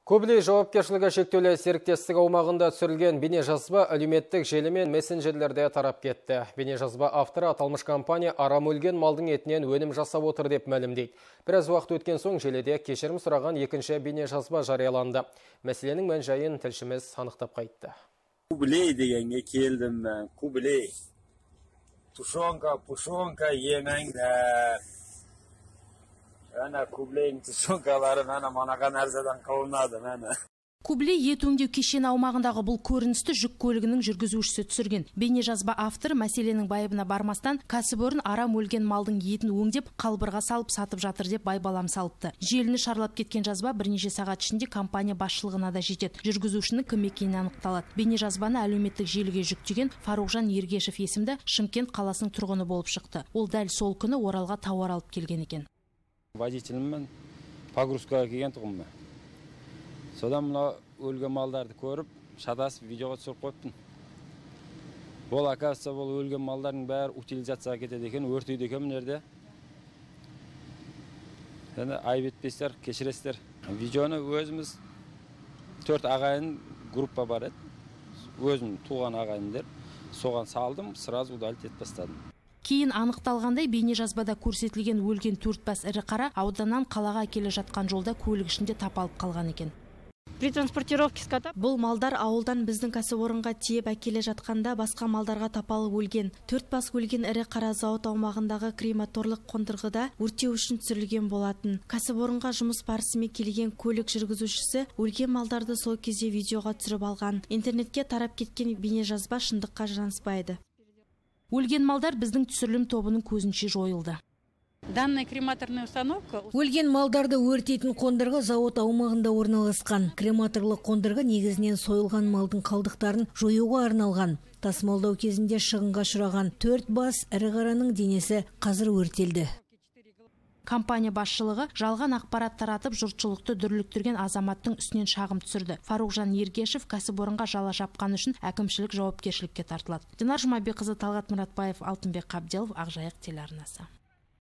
Көбілей жауапкершілігі шектеулі серіктестік аумағында түсірілген бейнежазба әлеуметтік желі мен мессенджерлерде тарап кетті. Бейнежазба авторы аталмыш компания арам өлген малдың етінен өнім жасап отыр деп мәлімдейді. Біраз уақыт өткен соң желіде кешірім сұраған екінші бейнежазба жарияланды. Мәселенің мән-жайын тілшіміз анықтап қайтты. Көбілей дегенге келдім мен. Көбілей. Пушонка емеңдер. Ана Көбілейдің тушонкалары манаған әрзадан қауынады. Көбілей ет өңдеу кешені аумағындағы бұл көріністі жүк көлігінің жүргізушісі түсірген. Бейнежазба авторы мәселенің байыбына бармастан кәсіпорын арам өлген малдың етін өңдеп қалбырға салып сатып жатыр деп байбалам салыпты. Желіні шарлап кеткен жазба бірнеше сағат ішінде компания басшылығына да жетеді. Жүргізушінің кім екені анықталады. Бейнежазбаны әлеуметтік желіге жүктеген Фарухжан Ергешев есімді Шымкент қаласының тұрғыны болып шықты. Ол дәл сол күні Оралға тауар алып келген екен. Водителіммен погрузкаға келген тұғым. Содан мұна өлген малдарды көріп, шатасып видеоға түсіріп қойыптын. Бұл оказывается, бұл өлген малдардың бәрі утилизацияға кетеді екен, өртейді екен мінерде. Айып етпестер, кешірестер. Видеоны өзіміз 4 ағайын группа бар еді. Өзім туған ағайындер. Соған салдым, сразу удалить етіп бастадым. Кейін анықталғандай бейнежазбада көрсетілген өлген 4 бас ірі қара ауданнан қалаға келе жатқан жолда көлік ішінде тапалып қалған екен. При транспортировке скота Бұл малдар ауылдан біздің кәсіпорынға тиеп әкеле жатқанда басқа малдарға тапалып өлген. 4 бас өлген ірі қара зауыт аумағындағы крематорлық қондырғыда өртеу үшін түсірілген болатын. Кәсіпорынға жұмыс барысымен келген көлік жүргізушісі өлген малдарды сол кезде видеоға түсіріп алған. Интернетке тарап кеткен бейнежазба шындыққа жанаспайды. Өлген малдар біздің түсірілім тобының көзінше жойылды. данная крематорная установка Өлген малдарды өртейтін қондырғы зауыт аумағында орналасқан. Крематорлық қондырғы негізінен сойылған малдың қалдықтарын жоюға арналған. Тасымалдау кезінде шығынға ұшыраған 4 бас ірі қараның денесі қазір өртелді. Компания басшылығы жалған ақпарат таратып жұртшылықты дүрліктірген азаматтың үстінен шағым түсірді. Фарухжан Ергешев кәсіпорынға жала жапқаны үшін әкімшілік жауапкершілікке тартылады. Динар Жұмабекқызы, Талғат Мұратбаев, Алтынбек Қабделов, Ақжайық телеарнасы.